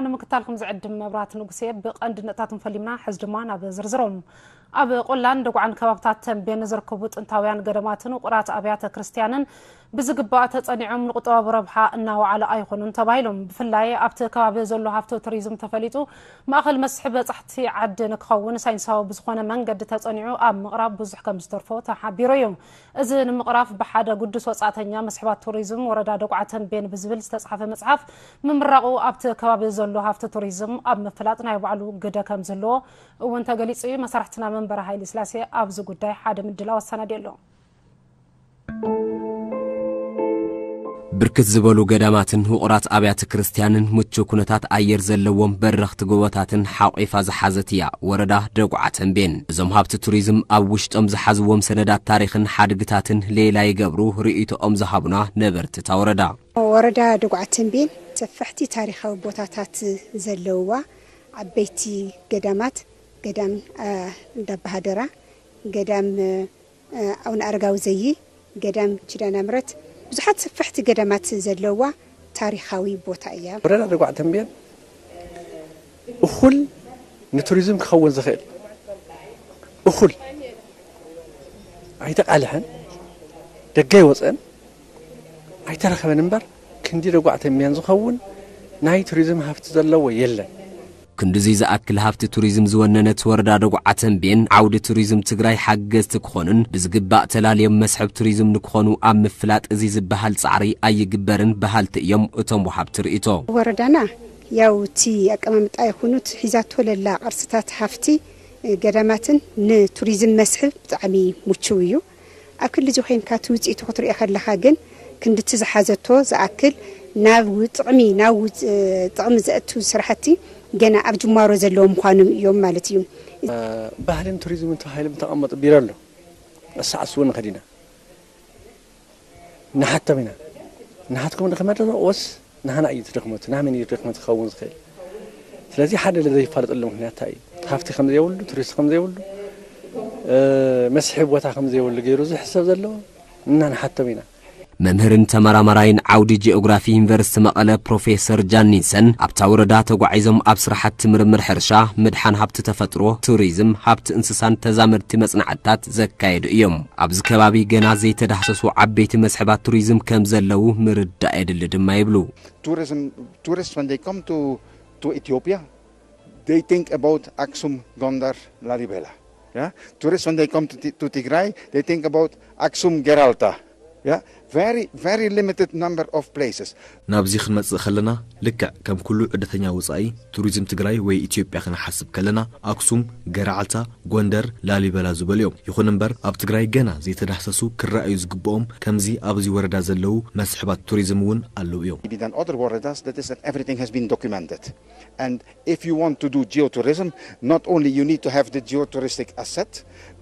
ንምክታልኩም ዝዕድም መብራት ንጉሴ። ብቐንዲ ነጥብታትን ፈሊምና፣ ሕዚ ድማ ናብ ዝርዝሮም። ኣብ ቆላን ደጉዓን ከባብታት ተንቤን ዝርከቡ ጥንታውያን ገዳማትን ውቑራት ኣብያተ ክርስቲያንን ብዝግባእ ተጸኒዖም ንቁጠባዊ ረብሓ እናወዓሉ ኣይኾኑን ተባሂሎም። ብፍላይ ኣብቲ ከባቢ ዘሎ ሃፍቲ ቱሪዝም ተፈሊጡ ማእኸል መስሕብ በጻሕቲ ዓዲ ንክኸውን ሳይንሳዊ ብዝኾነ መንገዲ ተጸኒዑ ኣብ ምቕራብ ብዙሕ ከም ዝተርፎ ተሓቢሩ እዩ። እዚ ንምቕራፍ ብሓደ ግዱስ ወጻእተኛ መስሕባት ቱሪዝም ወረዳ ደጉዓ ተንቤን ብዝብል ዝተጻሕፈ መጽሓፍ ምምራቑ ኣብቲ ከባቢ ዘሎ ሃፍቲ ቱሪዝም ኣብ ምፍላጥ ናይ ባዕሉ ግደ ከም ዘለዎ እውን ተገሊጹ እዩ። መሳርሕትና መንበረ ሃይለ ስላሴ ኣብዚ ጉዳይ ሓደ ምድላው ኣሰናዲኡ ኣሎ። ብርክት ዝበሉ ገዳማትን ውቑራት ኣብያተ ክርስቲያንን ምቹው ኩነታት ኣየር ዘለዎም በረኽቲ ጎቦታትን ሓቑፋ ዝሓዘት እያ ወረዳ ደጉዓ ተንቤን። እዞም ሃብቲ ቱሪዝም ኣብ ውሽጦም ዝሓዝዎም ሰነዳት ታሪኽን ሓድግታትን ሌላ ይገብሩ ርእይቶኦም ዝሃቡና ነበርቲ እታ ወረዳ። ወረዳ ደጉዓ ተንቤን ሰፋሕቲ ታሪኻዊ ቦታታት ዘለውዋ፣ ዓበይቲ ገዳማት፣ ገዳም፣ አ፣ እንዳባሃደራ፣ ገዳም፣ አ፣ ኣቡነ ኣረጋዊ ዘይ፣ ገዳም ኪዳነ ምሕረት፣ ብዙሓት ሰፋሕቲ ገዳማት ዘለውዋ ታሪኻዊ ቦታ እያ። ወረዳ ደጉዓ ተንቤን እኹል ንቱሪዝም ክኸውን ዝኽእል እኹል ኣይተቓልሐን፣ ደገ ኣይወፀን፣ ኣይተረኸበን እምበር ክንዲ ደጉዓ ተንቤን ዝኸውን ናይ ቱሪዝም ሃፍቲ ዘለዎ የለን። ክንድዚ ዝኣክል ሃፍቲ ቱሪዝም ዝወነነት ወረዳ ደጉዓ ተንቤን ዓውዲ ቱሪዝም ትግራይ ሓገዝቲ ክኾኑን ብዝግባእ ተላልዮም መስሕብ ቱሪዝም ንክኾኑ ኣብ ምፍላጥ እዚ ዝበሃል ጻዕሪ ኣይግበርን በሃልቲ እዮም እቶም ወሃብቲ ርእይቶ። ወረዳና ያው እቲ ኣቀማምጣ ይኹኑት ሒዛቶ ለላ ቅርስታት ሃፍቲ ገዳማትን ንቱሪዝም መስሕብ ብጣዕሚ ምቹው እዩ። ኣብ ክሊ እዚ ኮይንካ እቲ ውፅኢቱ ክትሪኦ ከለኻ ግን ክንድቲ ዝሓዘቶ ዝኣክል ናብ ው-፣ ጥቕሚ፣ ናብ ውፅ-፣ ጥቕሚ ዘእቱ ስራሕቲ ገና ኣብ ጅማሮ ዘለዎም ምዃኖም እዮም ማለት እዩ። ባህልን ቱሪዝምን ተባሂሎም ዝተቐመጡ ቢሮ ኣሎ። እሳዕስ እውን ንኸዲና ንሓቶም ኢና። ንሓትኩም ድኽመት ዶ ወስ ንሃና እዩ ድኽመት? ናመን እዩ ድኽመት ክኸውን ዝኽእል? ስለዚ ሓደ ለዘይፋለጠሉ ምኽንያት እንታይ እዩ? ሃፍቲ ከም ዘይብሉ፣ ቱሪስት ከም ዘይብሉ፣ እ፣ መስሕብ ቦታ ከም ዘይብሉ ገይሩ ዝሕሰብ ዘሎ እና ንሓቶም ኢና። መምህርን ተመራማራይን ዓውዲ ጂኦግራፊ ዩኒቨርሲቲ መቐለ ፕሮፌሰር ጃን ኒልሰን ኣብታ ወረዳ ተጓዒዞም ኣብ ስራሕቲ ምርምር ሕርሻ፣ ምድሓን ሃብቲ ተፈጥሮ፣ ቱሪዝም፣ ሃብቲ እንስሳን ተዛመድቲ መጽናዕትታት ዘካየዱ እዮም። ኣብዚ ከባቢ ገና ዘይተዳህሰሱ ዓበይቲ መስሕባት ቱሪዝም ከም ዘለዉ ምርዳእ የድሊ ድማ ይብሉ። Tourism, tourists, when they come to, to Ethiopia, they think about Aksum, Gondar, Lalibela. Yeah? Tourists, when they come to, Ti- to Tigray, they think about Aksum, Geralta. Yeah? Very, very limited number of places. ናብዚ ክንመጽእ ከለና ልክዕ ከም ኩሉ ዕደተኛ ወጻኢ ቱሪዝም ትግራይ ወይ ኢትዮጵያ ክንሓስብ ከለና ኣክሱም፣ ገረዓልታ፣ ጎንደር፣ ላሊበላ ዝበሉ እዮም። ይኹን እምበር ኣብ ትግራይ ገና ዘይተዳህሰሱ ክረኣዩ ዝግብኦም ከምዚ ኣብዚ ወረዳ ዘለዉ መስሕባት ቱሪዝም እውን ኣለዉ እዮም። Maybe than other ወረዳስ that is that everything has been documented. And if you want to do geotourism, not only you need to have the geotouristic asset,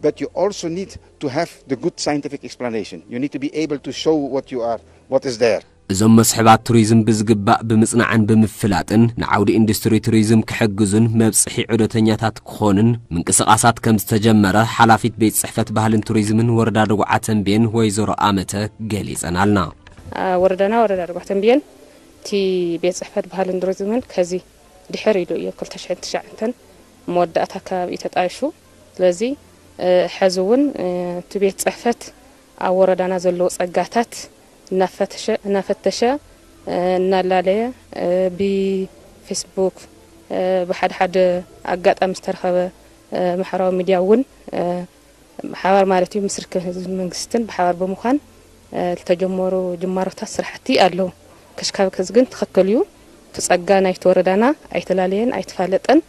but you also need to have the good scientific explanation. You need to be able to show what you are, what is there. እዞም መስሕባት ቱሪዝም ብዝግባእ ብምጽናዕን ብምፍላጥን ንዓውዲ ኢንዱስትሪ ቱሪዝም ክሕግዙን መብጽሒ ዑደተኛታት ክኾኑን ምንቅስቓሳት ከም ዝተጀመረ ሓላፊት ቤት ጽሕፈት ባህልን ቱሪዝምን ወረዳ ደጉዓ ተንቤን ወይዘሮ ኣመተ ገሊጸናልና። አ፣ ወረዳና ወረዳ ደጉዓ ተንቤን እቲ ቤት ጽሕፈት ባህልን ቱሪዝምን ከዚ ድሕር ኢሉ እዩ ክልተ ሽሕን ትሽዓተን መወዳእታ ኣከባቢ እዩ ተጣይሹ። ስለዚ፣ እ፣ ሕዚ እውን፣ እ፣ እቲ ቤት ጽሕፈት ኣብ ወረዳና ዘለዉ ጸጋታት እናፈተሸ፣ እናፈተሸ፣ እ፣ እናላለየ፣ እ፣ ብፌስቡክ፣ እ፣ ብሓደ ሓደ ኣጋጣሚ ዝተረኸበ፣ እ፣ ማሕበራዊ ሚድያ እውን፣ እ፣ ብሓባር ማለት እዩ ምስ ርክብ ህዝብን መንግስትን ብሓባር ብምዃን፣ እ፣ ዝተጀመሩ ጅማሮታት ስራሕቲ ኣለዉ። ከሽካብ ከዚ ግን ትኽክል እዩ። እቲ ጸጋ ናይቲ ወረዳና ኣይተላለየን፣ ኣይተፋለጠን፣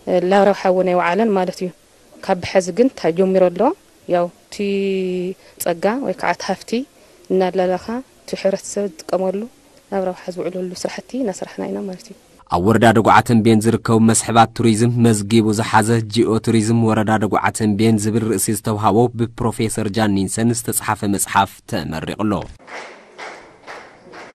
እ፣ ላብ ረብሓ እውን ኣይወዓለን ማለት እዩ። ካብ ብሐዚ ግን ተጀሚሩ ኣሎ። ያው እቲ ጸጋ ወይ ከዓ እቲ ሃፍቲ እናላላኻ እቲ ሕብረተሰብ ዝጥቀመሉ ናብ ረብሓ ዝውዕለሉ ስራሕቲ እናሰራሕና ኢና ማለት እዩ። ኣብ ወረዳ ደጉዓ ተንቤን ዝርከቡ መስሕባት ቱሪዝም መዝጊቡ ዝሓዘ ጂኦ ቱሪዝም ወረዳ ደጉዓ ተንቤን ዝብል ርእሲ ዝተውሃቦ ብፕሮፌሰር ጃን ኒንሰን ዝተጽሓፈ መጽሓፍ ተመሪቑ ኣሎ።